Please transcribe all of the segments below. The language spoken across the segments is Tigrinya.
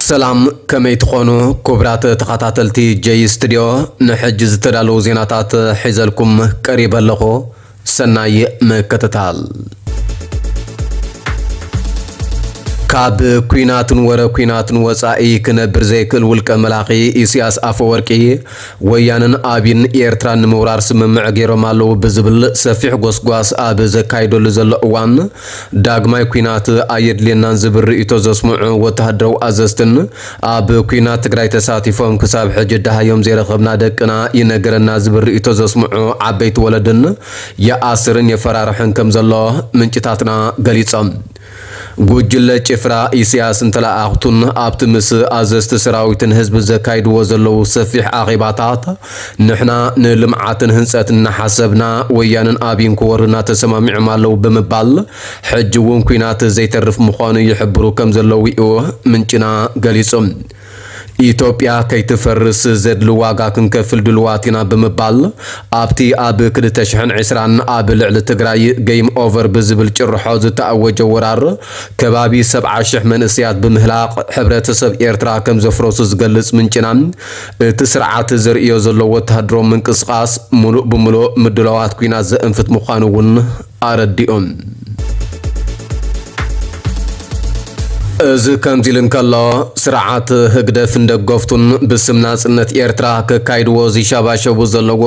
ሰላም፣ ከመይ ትኾኑ ክቡራት ተኸታተልቲ ጀይ ስቱድዮ? ንሕጂ ዝተዳለዉ ዜናታት ሒዘልኩም ቀሪበ ኣለኹ። ሰናይ ምክትታል። ካብ ኲናትን ወረ ኲናትን ወጻኢ ክነብር ዘይክእል ውልቀ መላኺ ኢሳያስ ኣፈወርቂ፣ ወያነን ኣቢን ኤርትራ ንምውራር ስምምዕ ገይሮም ኣለዉ ብዝብል ሰፊሕ ጎስጓስ ኣብ ዘካይደሉ ዘሎ እዋን፣ ዳግማይ ኲናት ኣየድልየናን ዝብል ርእይቶ ዘስምዑ ወተሃደራዊ ኣዘዝትን፣ ኣብ ኲናት ትግራይ ተሳቲፎም ክሳብ ሕጂ ደሃዮም ዘይረኸብና ደቅና ይነገረና ዝብል ርእይቶ ዘስምዑ ዓበይቲ ወለድን፣ ይኣስርን የፈራርሕን ከም ዘሎ ምንጭታትና ገሊጾም። ጉጅለ ጭፍራ ኢሳያስን ተለኣኣኽቱን ኣብቲ ምስ ኣዘዝቲ ሰራዊትን ህዝቢ ዘካይድዎ ዘለዉ ሰፊሕ ኣኼባታት፣ ንሕና ንልምዓትን ህንጸትን እናሓሰብና፣ ወያነን ኣቢን ክወሩና ተሰማሚዖም ኣለዉ ብምባል፣ ሕጂ እውን ኲናት ዘይተርፍ ምዃኑ ይሕብሩ ከም ዘለዉ እዩ ምንጭና ገሊጹ። ኢትዮጵያ ከይትፈርስ ዘድሊ ዋጋ ክንከፍል ድልዋት ኢና ብምባል፣ ኣብቲ ኣብ ክልተ ሽሕን ዕስራን ኣብ ልዕሊ ትግራይ ጌም ኦቨር ብዝብል ጭርሖ ዝተኣወጀ ወራር፣ ከባቢ ሰብዓ ሽሕ መንእሰያት ብምህላቕ ሕብረተሰብ ኤርትራ ከም ዘፍረሱ ዝገልጽ ምንጭና፣ እቲ ስርዓት ዘርእዮ ዘሎ ወተሃደራዊ ምንቅስቓስ፣ ምሉእ ብምሉእ ምድላዋት ኲናት ዘእንፍት ምዃኑ እውን ኣረዲኦም። እዚ ከምዚ ኢሉ እንከሎ፣ ስርዓት ህግደፍን ደገፍቱን ብስም ናጽነት ኤርትራ ከካይድዎ ዝሻባሸቡ ዘለዎ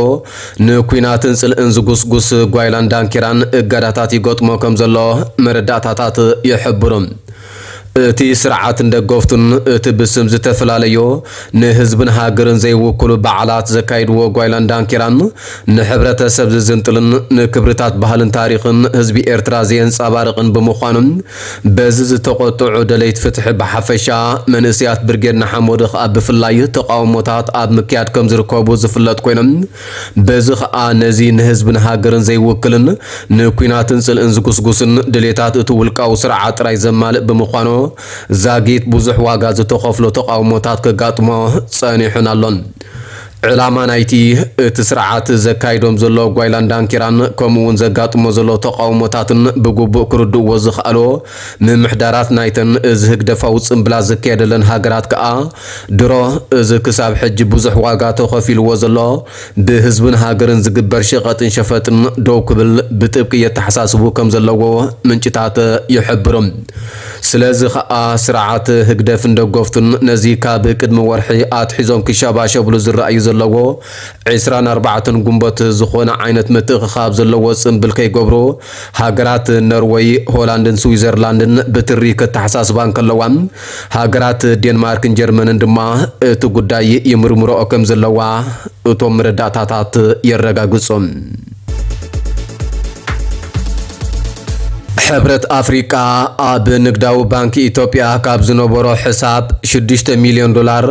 ንኲናትን ጽልእን ዝጉስጉስ ጓይላን ዳንኪራን እገዳታት ይገጥሞ ከም ዘሎ መረዳእታታት ይሕብሩ። እቲ ስርዓትን ደገፍቱን እቲ ብስም ዝተፈላለዩ ንህዝብን ሃገርን ዘይውክሉ በዓላት ዘካይድዎ ጓይላን ዳንኪራን ንሕብረተሰብ ዝዝንጥልን ንክብርታት ባህልን ታሪኽን ህዝቢ ኤርትራ ዘየንጸባርቕን ብምዃኑ፣ በዚ ዝተቖጥዑ ደለይቲ ፍትሒ ብሓፈሻ፣ መንእሰያት ብርጌድ ንሓመዱ ከኣ ብፍላይ ተቓውሞታት ኣብ ምክያድ ከም ዝርከቡ ዝፍለጥ ኮይኖም፣ በዚ ከኣ ነዚ ንህዝብን ሃገርን ዘይውክልን ንኲናትን ጽልእን ዝጉስጉስን ድሌታት እቲ ውልቃዊ ስርዓት ጥራይ ዘማልእ ብምዃኑ፣ ዛጊት ብዙሕ ዋጋ ዝተኸፍሎ ተቓውሞታት ከጋጥሞ ጸኒሑን ኣሎን። ዕላማ ናይቲ እቲ ስርዓት ዘካይዶም ዘሎ ጓይላን ዳንኪራን ከምኡ እውን ዘጋጥሞ ዘሎ ተቓውሞታትን ብግቡእ ክርድእዎ ዝኸኣሉ ምምሕዳራት ናይተን እዚ ህግደፋዊ ጽምብላት ዝካየደለን ሃገራት ከኣ ድሮ እዚ ክሳብ ሕጂ ብዙሕ ዋጋ ተኸፊልዎ ዘሎ ብህዝብን ሃገርን ዝግበር ሸቐጥን ሸፈጥን ደው ክብል ብጥብቂ የተሓሳስቡ ከም ዘለዎ ምንጭታት ይሕብሩ። ስለዚ ኸኣ ስርዓት ህግደፍን ደገፍቱን ነዚ ካብ ቅድሚ ወርሒ ኣትሒዞም ክሸባሸብሉ ዝረኣዩ ዘለዎ ዕስራን ኣርባዕተን ግንቦት ዝኾነ ዓይነት ምትእኽኻብ ዘለዎ ጽምብል ከይገብሩ ሃገራት ኖርወይ፣ ሆላንድን ስዊዘርላንድን ብትሪ ከተሓሳስባ እንከለዋ፣ ሃገራት ዴንማርክን ጀርመንን ድማ እቲ ጉዳይ ይምርምረኦ ከም ዘለዋ እቶም መረዳእታታት የረጋግጹ። ሕብረት ኣፍሪቃ ኣብ ንግዳዊ ባንክ ኢትዮጵያ ካብ ዝነበሮ ሕሳብ ሽዱሽተ ሚልዮን ዶላር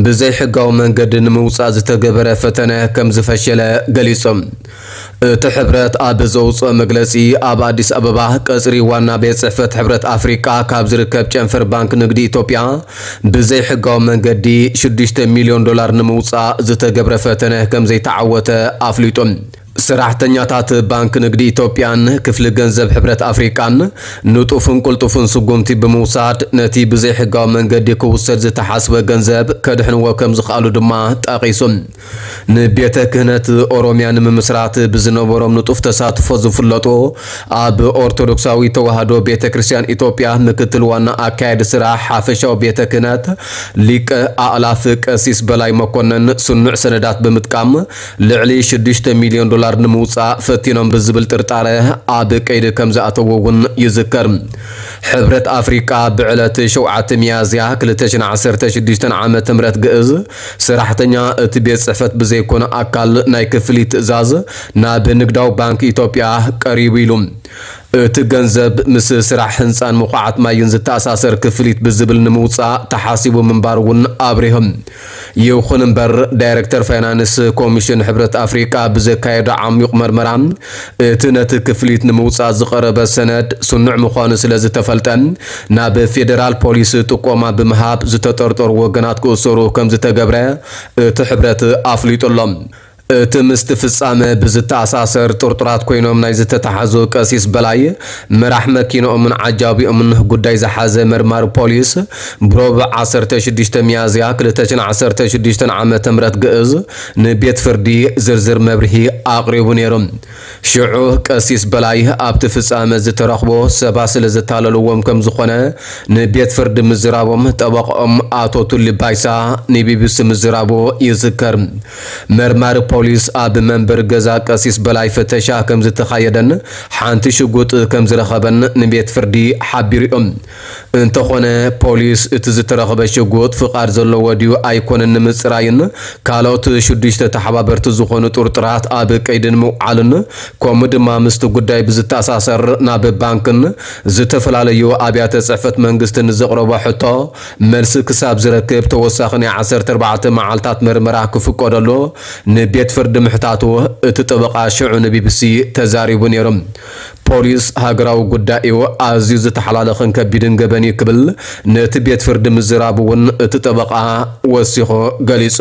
ብዘይሕጋዊ መንገዲ ንምውጻእ ዝተገበረ ፈተነ ከም ዝፈሸለ ገሊጹ። እቲ ሕብረት ኣብ ዘውጽኦ መግለጺ፣ ኣብ ኣዲስ ኣበባ ቀጽሪ ዋና ቤት ጽሕፈት ሕብረት ኣፍሪቃ ካብ ዝርከብ ጨንፈር ባንክ ንግዲ ኢትዮጵያ ብዘይሕጋዊ መንገዲ ሽዱሽተ ሚልዮን ዶላር ንምውጻእ ዝተገብረ ፈተነ ከም ዘይተዓወተ ኣፍሊጡ። ሰራሕተኛታት ባንክ ንግዲ ኢትዮጵያን ክፍሊ ገንዘብ ሕብረት ኣፍሪቃን ንጡፍን ቅልጡፍን ስጉምቲ ብምውሳድ ነቲ ብዘይሕጋዊ መንገዲ ክውሰድ ዝተሓስበ ገንዘብ ከድሕንዎ ከም ዝኸኣሉ ድማ ጠቒሱ። ንቤተ ክህነት ኦሮሚያ ንምምስራት ብዝነበሮም ንጡፍ ተሳትፎ ዝፍለጡ ኣብ ኦርቶዶክሳዊ ተዋህዶ ቤተ ክርስቲያን ኢትዮጵያ ምክትል ዋና ኣካያዲ ስራሕ ሓፈሻዊ ቤተ ክህነት ሊቀ ኣእላፍ ቀሲስ በላይ መኮነን ስኑዕ ሰነዳት ብምጥቃም ልዕሊ ሽዱሽተ ሚልዮን ዶላር ንምውጻእ ፈቲኖም ብዝብል ጥርጣረ ኣብ ቀይዲ ከም ዝኣተዉ እውን ይዝከር። ሕብረት ኣፍሪቃ ብዕለት ሸውዓተ ሚያዝያ ክልተ ሽሕን ዓሰርተ ሽዱሽተን ዓመተ ምህረት ግእዝ ሰራሕተኛ እቲ ቤት ጽሕፈት ብዘይኮነ ኣካል ናይ ክፍሊት ትእዛዝ ናብ ንግዳዊ ባንክ ኢትዮጵያ ቀሪቡ ኢሉ። እቲ ገንዘብ ምስ ስራሕ ህንጻን ምኹዓት ማይን ዝተኣሳሰር ክፍሊት ብዝብል ንምውጻእ ተሓሲቡ ምንባሩ እውን ኣብሪሆም። ይኹን እምበር፣ ዳይሬክተር ፋይናንስ ኮሚሽን ሕብረት ኣፍሪቃ ብዘካየዶ ዓሚቕ መርመራ፣ እቲ ነቲ ክፍሊት ንምውጻእ ዝቐረበ ሰነድ ስኑዕ ምዃኑ ስለ ዝተፈልጠ፣ ናብ ፌደራል ፖሊስ ጥቆማ ብምሃብ ዝተጠርጠሩ ወገናት ክእሰሩ ከም ዝተገብረ እቲ ሕብረት ኣፍሊጡ ኣሎ። እቲ ምስቲ ፍጻመ ብዝተኣሳሰር ጥርጡራት ኮይኖም ናይ ዝተታሕዙ ቀሲስ በላይ፣ መራሕ መኪንኦምን ዓጃቢኦምን ጉዳይ ዝሓዘ መርማሪ ፖሊስ፣ ብሮብ ዓሰርተ ሽዱሽተ ሚያዝያ ክልተ ሽሕን ዓሰርተ ሽዱሽተን ዓመተ ምህረት ግእዝ ንቤት ፍርዲ ዝርዝር መብርሂ ኣቕሪቡ ነይሩ። ሽዑ ቀሲስ በላይ ኣብቲ ፍጻመ ዝተረኽቦ ሰባት ስለ ዘታለልዎም ከም ዝኾነ ንቤት ፍርዲ ምዝራቦም ጠበቕኦም ኣቶ ቱሊ ባይሳ ንቢቢሲ ምዝራቡ ይዝከር። መርማሪ ፖሊስ ኣብ መንበሪ ገዛ ቀሲስ በላይ ፍተሻ ከም ዝተኻየደን ሓንቲ ሽጉጥ ከም ዝረኸበን ንቤት ፍርዲ ሓቢሩ እዮም። እንተኾነ ፖሊስ እቲ ዝተረኸበ ሽጉጥ ፍቓድ ዘለዎ ድዩ ኣይኮነን ንምጽራይን ካልኦት ሽዱሽተ ተሓባበርቲ ዝኾኑ ጥርጡራት ኣብ ቀይዲ ንምውዓልን ከምኡ ድማ ምስቲ ጉዳይ ብዝተኣሳሰር ናብ ባንክን ዝተፈላለዩ ኣብያተ ጽሕፈት መንግስትን ዘቕረቦ ሕቶ መልሲ ክሳብ ዝረክብ ተወሳኺ ናይ ዓሰርተ ኣርባዕተ መዓልታት መርመራ ክፍቀደሉ ንቤት ፍርዲ ምሕታቱ እቲ ጠበቓ ሽዑ ንቢቢሲ ተዛሪቡ ነይሩ። ፖሊስ ሃገራዊ ጉዳይ እዩ ኣዝዩ ዝተሓላለኸን ከቢድን ገበን እዩ ክብል ነቲ ቤት ፍርዲ ምዝራቡ እውን እቲ ጠበቓ ወሲኹ ገሊጹ።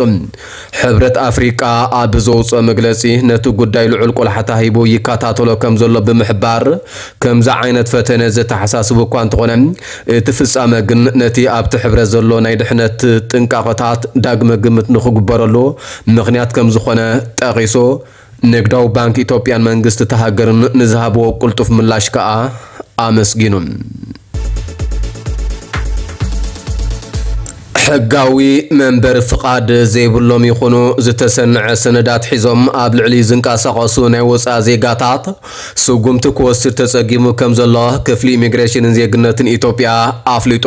ሕብረት ኣፍሪቃ ኣብ ዘውፅኦ መግለፂ ነቲ ጉዳይ ልዑል ቆላሕታ ሂቡ ይከታተሎ ከም ዘሎ ብምሕባር ከምዚ ዓይነት ፈተነ ዘተሓሳስብ እኳ እንተኾነ እቲ ፍጻመ ግን ነቲ ኣብቲ ሕብረት ዘሎ ናይ ድሕነት ጥንቃቐታት ዳግመ ግምት ንኽግበረሉ ምኽንያት ከም ዝኾነ ጠቒሱ ንግዳዊ ባንክ ኢትዮጵያን መንግስቲ እታ ሃገርን ንዝሃብዎ ቅልጡፍ ምላሽ ከኣ ኣመስጊኑ። ሕጋዊ መንበሪ ፍቓድ ዘይብሎም ይኹኑ ዝተሰንዐ ሰነዳት ሒዞም ኣብ ልዕሊ ዝንቀሳቐሱ ናይ ወፃኢ ዜጋታት ስጉምቲ ክወስድ ተፀጊሙ ከም ዘሎ ክፍሊ ኢሚግሬሽንን ዜግነትን ኢትዮጵያ ኣፍሊጡ።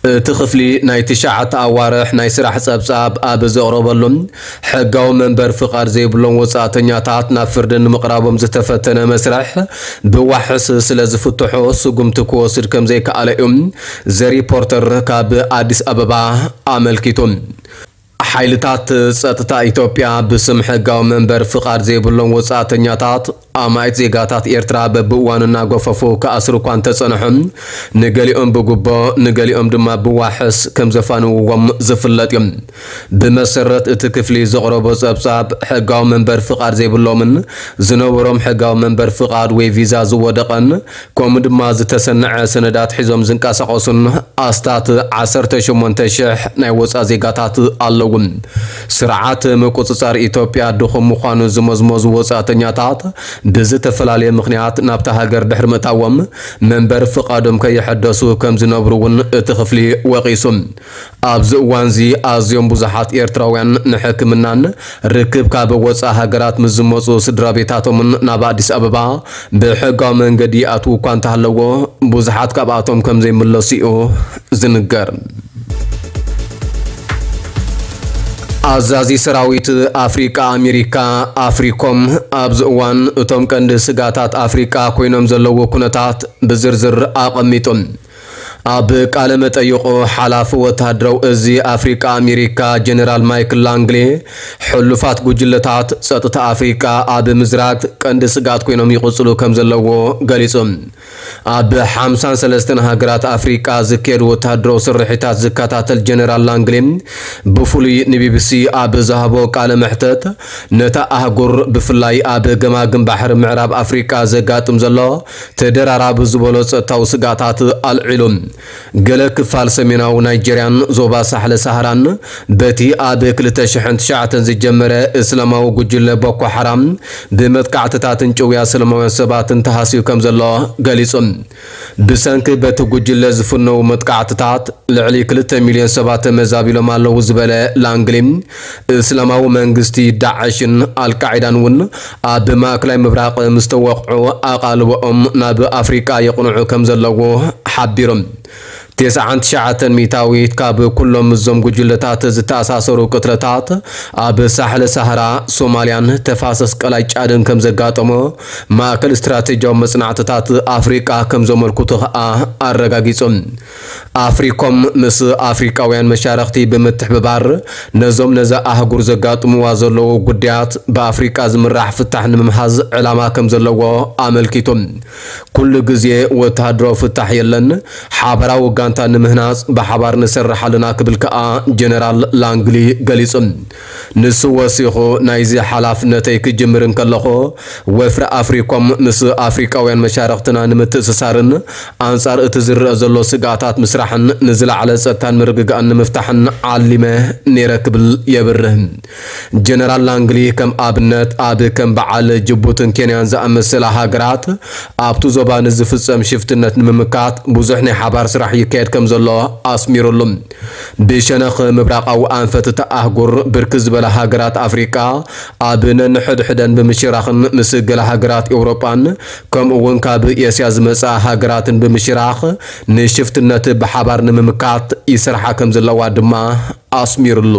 እቲ ክፍሊ ናይ ትሽዓተ ኣዋርሕ ናይ ስራሕ ጸብጻብ ኣብ ዘቕረበሉ፣ ሕጋዊ መንበር ፍቓድ ዘይብሎም ወጻእተኛታት ናብ ፍርዲ ንምቕራቦም ዝተፈተነ መስርሕ ብዋሕስ ስለ ዝፍትሖ ስጉምቲ ክወስድ ከም ዘይከኣለ እዩ ዘ ሪፖርተር ካብ ኣዲስ ኣበባ ኣመልኪቱ። ሓይልታት ጸጥታ ኢትዮጵያ ብስም ሕጋዊ መንበር ፍቓድ ዘይብሎም ወጻእተኛታት ኣማኢት ዜጋታት ኤርትራ በብእዋኑ እናገፈፉ ክኣስሩ እኳ እንተጸንሑ፣ ንገሊኦም ብጉቦ፣ ንገሊኦም ድማ ብዋሕስ ከም ዘፋንውዎም ዝፍለጥ እዩ። ብመሰረት እቲ ክፍሊ ዘቕረቦ ጸብጻብ፣ ሕጋዊ መንበር ፍቓድ ዘይብሎምን ዝነበሮም ሕጋዊ መንበር ፍቓድ ወይ ቪዛ ዝወደቐን፣ ከምኡ ድማ ዝተሰነዐ ሰነዳት ሒዞም ዝንቀሳቐሱን ኣስታት ዓሰርተ ሸሞንተ ሽሕ ናይ ወጻኢ ዜጋታት ኣለዉ። ስርዓት ምቁጽጻር ኢትዮጵያ ድኹም ምዃኑ ዝመዝመዙ ወጻእተኛታት ብዝተፈላለየ ምኽንያት ናብታ ሃገር ድሕሪ ምእታዎም መንበሪ ፍቓዶም ከየሐደሱ ከም ዝነብሩ እውን እቲ ክፍሊ ወቒሱ። ኣብዚ እዋንዚ ኣዝዮም ብዙሓት ኤርትራውያን ንሕክምናን ርክብ ካብ ወጻኢ ሃገራት ምስ ዝመጹ ስድራ ቤታቶምን ናብ ኣዲስ ኣበባ ብሕጋዊ መንገዲ ይኣትዉ እኳ እንተሃለዎ፣ ብዙሓት ካብኣቶም ከም ዘይምለሱ እዩ ዝንገር። ኣዛዚ ሰራዊት ኣፍሪቃ ኣሜሪካ ኣፍሪኮም ኣብዚ እዋን እቶም ቀንዲ ስጋታት ኣፍሪቃ ኮይኖም ዘለዉ ኩነታት ብዝርዝር ኣቐሚጡ። ኣብ ቃለ መጠይቑ ሓላፊ ወተሃደራዊ እዚ ኣፍሪቃ ኣሜሪካ ጀነራል ማይክል ላንግሊ ሕሉፋት ጉጅለታት ጸጥታ ኣፍሪቃ ኣብ ምዝራግ ቀንዲ ስግኣት ኮይኖም ይቕጽሉ ከም ዘለዎ ገሊጹ። ኣብ ሓምሳን ሰለስተን ሃገራት ኣፍሪቃ ዝካየዱ ወተሃደራዊ ስርሒታት ዝከታተል ጀነራል ላንግሊ ብፍሉይ ንቢቢሲ ኣብ ዝሃቦ ቃለ መሕተት ነታ ኣህጉር ብፍላይ ኣብ ገማግም ባሕሪ ምዕራብ ኣፍሪቃ ዘጋጥም ዘሎ ተደራራቢ ዝበሎ ጸጥታዊ ስግኣታት ኣልዒሉ። ገለ ክፋል ሰሜናዊ ናይጀርያን ዞባ ሳሕለ ሳህራን በቲ ኣብ ክልተ ሽሕን ትሽዓተን ዝጀመረ እስላማዊ ጉጅለ ቦኮ ሓራም ብመጥቃዕትታትን ጭውያ ሰላማውያን ሰባትን ተሃስዩ ከም ዘሎ ገሊጹ። ብሰንኪ በቲ ጉጅለ ዝፍነዉ መጥቃዕትታት ልዕሊ ክልተ ሚልዮን ሰባት ተመዛቢሎም ኣለዉ ዝበለ ላንግሊ፣ እስላማዊ መንግስቲ ዳዕሽን ኣልቃዒዳን እውን ኣብ ማእከላይ ምብራቕ ምስ ተወቕዑ ኣቓልቦኦም ናብ ኣፍሪቃ የቕንዑ ከም ዘለዉ ሓቢሩ። ተስዓን ትሽዓተን ሚእታዊት ካብ ኩሎም ምስዞም ጉጅለታት ዝተኣሳሰሩ ቅትለታት ኣብ ሳሕለ ሳህራ፣ ሶማልያን ተፋሰስ ቀላይ ጫድን ከም ዘጋጠሞ ማእከል ስትራቴጂያዊ መጽናዕትታት ኣፍሪቃ ከም ዘመልክቱ ከኣ ኣረጋጊጹ። ኣፍሪኮም ምስ ኣፍሪቃውያን መሻርኽቲ ብምትሕብባር ነዞም ነዛ ኣህጉር ዘጋጥምዋ ዘለዉ ጉዳያት ብኣፍሪቃ ዝምራሕ ፍታሕ ንምምሃዝ ዕላማ ከም ዘለዎ ኣመልኪቱ። ኩሉ ግዜ ወተሃደራዊ ፍታሕ የለን፣ ሓበራዊ ንምህናጽ ብሓባር ንሰርሕ ኣለና ክብል ከኣ ጀነራል ላንግሊ ገሊጹ። ንሱ ወሲኹ፣ ናይዚ ሓላፍነተይ ክጅምር እንከለኹ፣ ወፍሪ ኣፍሪኮም ምስ ኣፍሪቃውያን መሻርኽትና ንምትእስሳርን ኣንጻር እቲ ዝረአ ዘሎ ስግኣታት ምስራሕን ንዝለዓለ ጸጥታን ምርግጋእን ንምፍታሕን ዓሊመ ነይረ ክብል የብርህ። ጀነራል ላንግሊ ከም ኣብነት ኣብ ከም በዓል ጅቡትን ኬንያን ዝኣመሰላ ሃገራት ኣብቲ ዞባ ንዝፍጸም ሽፍትነት ንምምካት ብዙሕ ናይ ሓባር ስራሕ ይካየድ ከም ዘሎ ኣስሚሩሉ። ብሸነኽ ምብራቓዊ ኣንፈት እታ ኣህጉር ብርክት ዝበላ ሃገራት ኣፍሪቃ ኣብ ነንሕድሕደን ብምሽራኽን ምስ ገለ ሃገራት ኤውሮጳን ከምኡ እውን ካብ ኤስያ ዝመጻ ሃገራትን ብምሽራኽ ንሽፍትነት ብሓባር ንምምካት ይሰርሓ ከም ዘለዋ ድማ ኣስሚሩሉ።